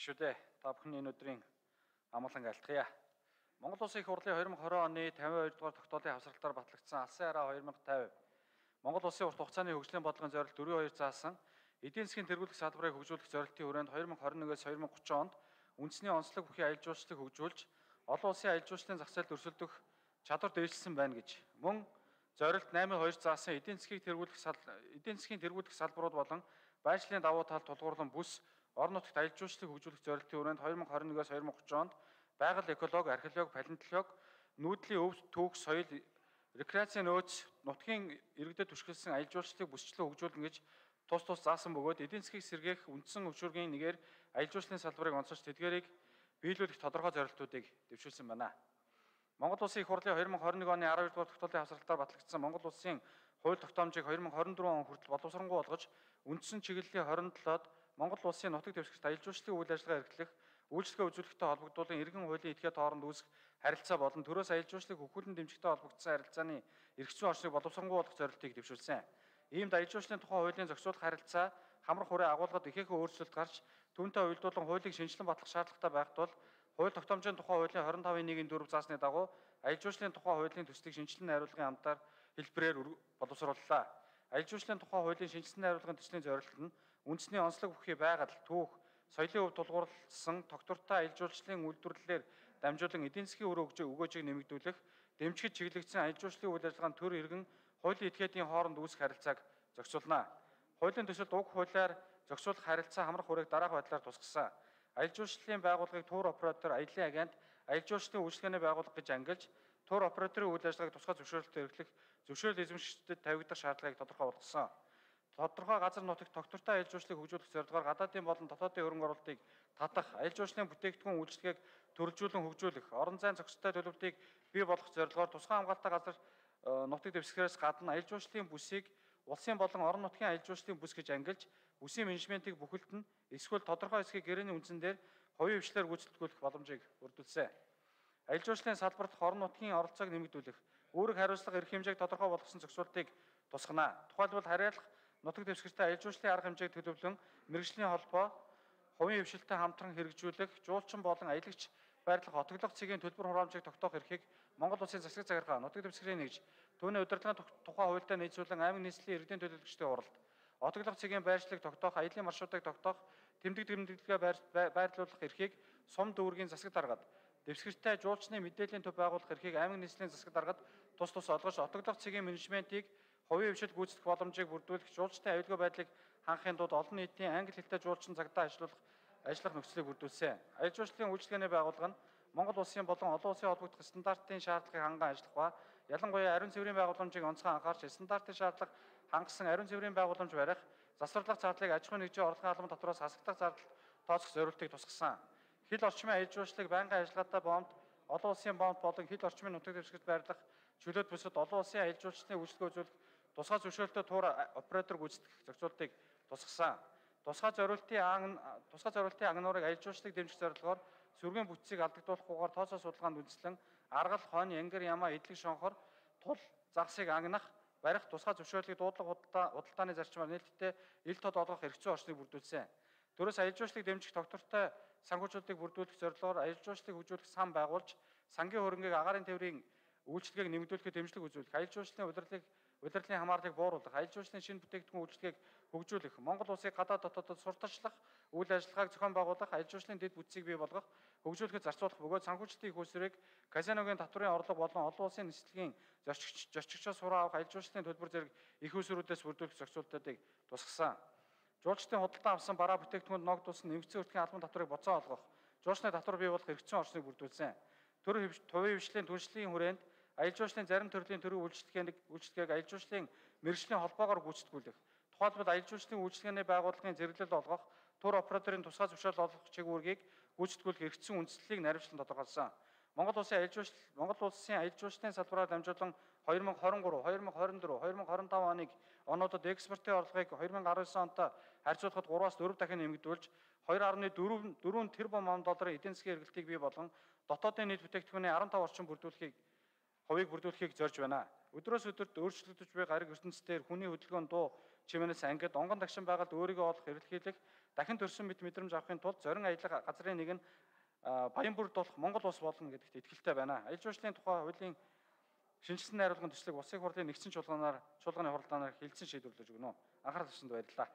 Гишүүдээ та бүхний энэ өдрийн амгалан айлтгая. Монгол Улсын их хурлын 2020 оны 52 дугаар тогтоолын хавсралтаар батлагдсан Алсын хараа 2050 Монгол Улсын урт хугацааны хөгжлийн бодлогын зорилт 4.2 заасан эдийн засгийн тэргуулах салбарыг хөгжүүлэх зорилтын хүрээнд 2021-с 2030 онд үндэсний онцлог бүхий аялал жуулчлалыг хөгжүүлж олон улсын аялал жуулчлалын зах зээлд өрсөлдөх чадвар дэвшилсэн байна гэж мөн зорилт 8.2 заасан эдийн засгийн тэргуулах салбарууд болон байршлын давуу тал тулгуурлан бүс орон нутагт аялал жуулчлалыг хөгжүүлэх зорилтын хүрээнд 2021-с 2030 онд байгаль экологи, археологи, палеонтологи, нүүдлийн өв түүх, соёл, рекреацийн нөөц, нутгийн иргэдэд түшиглсэн аялал жуулчлалыг бүсчлэн хөгжүүлнэ гэж тус заасан бөгөөд эдийн засгийг сэргээх үндсэн өчүүргийн нэгээр аялал жуулчлалын салбарыг онцолж тэдгээрийг биелүүлэх тодорхой зорилтуудыг дэвшүүлсэн байна. Монгол Улсын их хурлын 2021 оны 12 дугаар тогтоолын хавсралтаар батлагдсан Монгол Улсын хууль тогтоомжийг 2024 он хүртэл боловсронгуй болгож үндсэн чиглэлийн 27-д Монгол Улсын нутаг дэвсгэрт аялал жуулчлалын үйл ажиллагаа эрхлэх, үйлчлэгээ үзүүлэхтэй холбогдуулан иргэн хуулийн этгээд хооронд үүсэх харилцаа болон төрөөс аялал жуулчлалыг хөгжүүлэн дэмжихтэй холбогдсон харилцааны эрх зүйн орчныг боловсронгуй болгох зорилтыг дэвшүүлсэн. Иймд аялал жуулчлалын тухай хуулийн зохицуулах харилцаа хамрах хүрээ агуулгад ихээхэн өөрчлөлт гарч түүнтэй уялдуулан хуулийг шинжилэн батлах шаардлагатай байх тул хууль тогтоомжийн тухай хуулийн 25.1-4 заасны дагуу аялал жуулчлалын тухай хуулийн төслийг шинжилэн найруулгын хамтаар хэлбэрээр боловсрууллаа. Аялал жуулчлалын тухай хуулийн шинжилсэн найруулгын төслийн зорилт нь үндэсний онцлог бүхий байгаль, түүх, соёлын өв тулгуурласан тогтвортой аялал жуулчлалын үйлдвэрлэлээр дамжуулан эдийн засгийн үр өгөөжийг нэмэгдүүлэх, дэмжигч чиглэгдсэн аялал жуулчлалын үйл ажиллагаанд төр иргэн хуулийн этгээдийн хооронд үүсэх харилцааг зохицуулна. Хуулийн төсөлд уг хуулиар зохицуулах харилцаа хамрах хүрээг дараах байдлаар тусгасан. Аялал жуулчлалын байгууллагыг тур оператор, аяллаа агент, аялал жуулчлалын үйлчилгээний байгууллага гэж ангилж, тур операторын үйл ажиллагааг тусгай зөвшөөрлөлтөөр эрхлэх зөвшөөрөл эзэмшигчдэд тавигдах шаардлагыг тодорхой болгосон. Тодорхой газар нутагт тогтвортой аялал жуулчлалыг хөгжүүлэх зорилгоор гадаадын болон дотоодын хөрөнгө оруулалтыг татах, аялал жуулчлалын бүтээгдэхүүн үйлчилгээг төрөлжүүлэн хөгжүүлэх, орон зайн зохистой төлөвлөлтийг бий болгох зорилгоор тусгай хамгаалалттай газар нутаг дэвсгэрээс гадна аялал жуулчлалын бүсийг улсын болон орон нутгийн аялал жуулчлалын бүс гэж ангилж, бүсийн менежментийг бүхэлдэн эсвэл тодорхой хэсгийг гэрээний үндсэн дээр хувийн хвшлээр гүйцэтгүүлэх боломжийг өргөдөлсөн. Аялал жуулчлалын салбарт орон нутгийн оролцоог нэмэгдүүлэх, үүрэг хариуцлага эрх хэмжээг тодорхой болгосон зохицуултыг тусгана. Тухайлбал харьяалах нутаг дэвсгэртэй аялал жуулчлалын арга хэмжээг төлөвлөн мэргэжлийн холбоо, хувийн хвшилтэд хамтран хэрэгжүүлэх, жуулчин болон аялагч байрлах отоглох цэгийн төлбөр хураамжийг тогтоох эрхийг Монгол Улсын засаг захиргаа, нутаг дэвсгэрийн нэгж, түүний удирдлагын тухай хуультай нийцүүлэн аймаг нийслэлийн иргэдийн төлөөлөгчдийн уралд, отоглох цэгийн байршлыг тогтоох, аяллаа маршрутыг тогтоох, тэмдэглэгээ байрлуулах эрхийг сум дүүргийн засаг даргад, дэвсгэртэй жуулчны мэдээллийн төв байгуулах эрхийг аймаг нийслэлийн засаг даргад тус олгож, отоглох цэгийн менежментийг хувийн хвшил гүйцэтгэх боломжийг бүрдүүлэх, жуулчдын аюулгүй байдлыг хангахын тулд олон нийтийн англи хэлтэй жуулчин цагдаа ажиллах нөхцөлийг бүрдүүлсэн. Аялал жуулчлалын үйлчилгээний байгууллага нь Монгол Улсын болон олон улсын холбогдох стандартын шаардлагыг ханган ажиллах ба ялангуяа ариун цэврийн байгууламжийг онцгой анхаарч стандартын шаардлага хангасан ариун цэврийн байгууламж барих, засварлах зардлыг аж ахуйн нэгжийн орлогын албан татвараас хасагдах зардал тооцох зорилтыг тусгасан. Хил орчмын аялал жуулчлалыг байнгын ажиллагаатай бомд, олон улсын бомд болон хил орчмын нутаг дэвсгэрт байрлах чөлөөт бүсэд олон улсын аялал жуулчлалын үйлчилгээ үзүүлэх тусгай зөвшөөрөлтөй тур оператор гүйцэтгэх зохицуултыг тусгасан. Тусгай зорилтын агнуурыг аялал жуулчлалыг дэмжих зорилгоор сүргийн бүтцийг алдагдуулахгүйгээр тооцоо судалгаанд үндэслэн аргал, хонь, янгир, ямаа, эдлэг, шонхор, тул загсыг агнах, барих тусгай зөвшөөрлийг дуудлага худалдааны зарчмаар нээлттэй ил тод олгох эрх зүйн орчныг бүрдүүлсэн. Төрөөс аялал жуулчлалыг дэмжих тогтвортой санхүүжилтийг бүрдүүлэх зорилгоор аялал жуулчлалыг хөгжүүлэх сан байгуулж, сангийн хөрөнгийг агаарын тээврийн үйлчилгээг нэмэгдүүлэхэд дэмжлэг үзүүлэх, аялал жуулчлалын удирдлагын хамаарлыг бууруулах, аялал жуулчлалын шинэ бүтээгдэхүүн үйлчилгээг хөгжүүлэх, Монгол Улсыг гадаад дотоодод сурталчлах үйл ажиллагааг зохион байгуулах, аялал жуулчлалын дэд бүтцийг бий болгох, хөгжүүлэхэд зарцуулах бөгөөд санхүүжилтийн их усрыг казиногийн татварын орлого болон олон улсын нислэгийн зорчигчоос сураа авах аялал жуулчлалын төлбөр зэрэг их усрүүдээс бүрдүүлэх зохицуултуудыг тусгасан. Жуулчдын худалдан авсан бараа бүтээгдэхүүнд ногдуулсан нэмэгдсэн өртгийн албан татварыг буцаа олгох, жуулчны татвар бий болох эрх зүйн орчныг бүрдүүлсэн. Хувийн хвшлийн түншлэлийн хүрээнд аялал жуулчлалын зарим төрлийн төрийн үйлчилгээг аялал жуулчлалын мэргэжлийн холбоогоор гүйцэтгүүлэх. Тухайлбал аялал жуулчлалын үйлчилгээний байгууллагын зэрэглэл олгох, тур операторын тусгай зөвшөөрөл олгох чиглэлийг гүйцэтгүүлэх эрх зүйн үндслэлийг наривчлан тодорхойлсон. Монгол Улсын аялал жуулчлалын салбараар дамжуулан 2023, 2024, 2025 онуудад экспортын орлогыг 2019 онтой харьцуулахад 3-аас 4 дахин нэмэгдүүлж 2.4 тэрбум долларын эдийн засгийн эргэлтийг бий болгон дотоодын нийт бүтээгдэхүүний 15 орчим хувийг бүрдүүлэхийг зорж байна. Өдрөөс өдөрт өөрчлөгдөж буй гариг ертөнцийн дээр хүний хөдөлгөөнд дуу чимээнээс ангид онгон тагшин байгальд өөрийгөө олох эрэлхийлэх дахин төрсөн мэт мэдрэмж авахын тулд зорин аялах газрын нэг нь баян бүрд болох Монгол улс болно гэдэгт итгэлтэй байна. Аялал жуулчлалын тухай хуулийн шинжилсэн найруулгын төслийг улсын хурлын нэгдсэн чуулганы хуралдаанаар хэлэлцэн шийдвэрлэж өгнө. Анхаарал тавьсанд баярлалаа.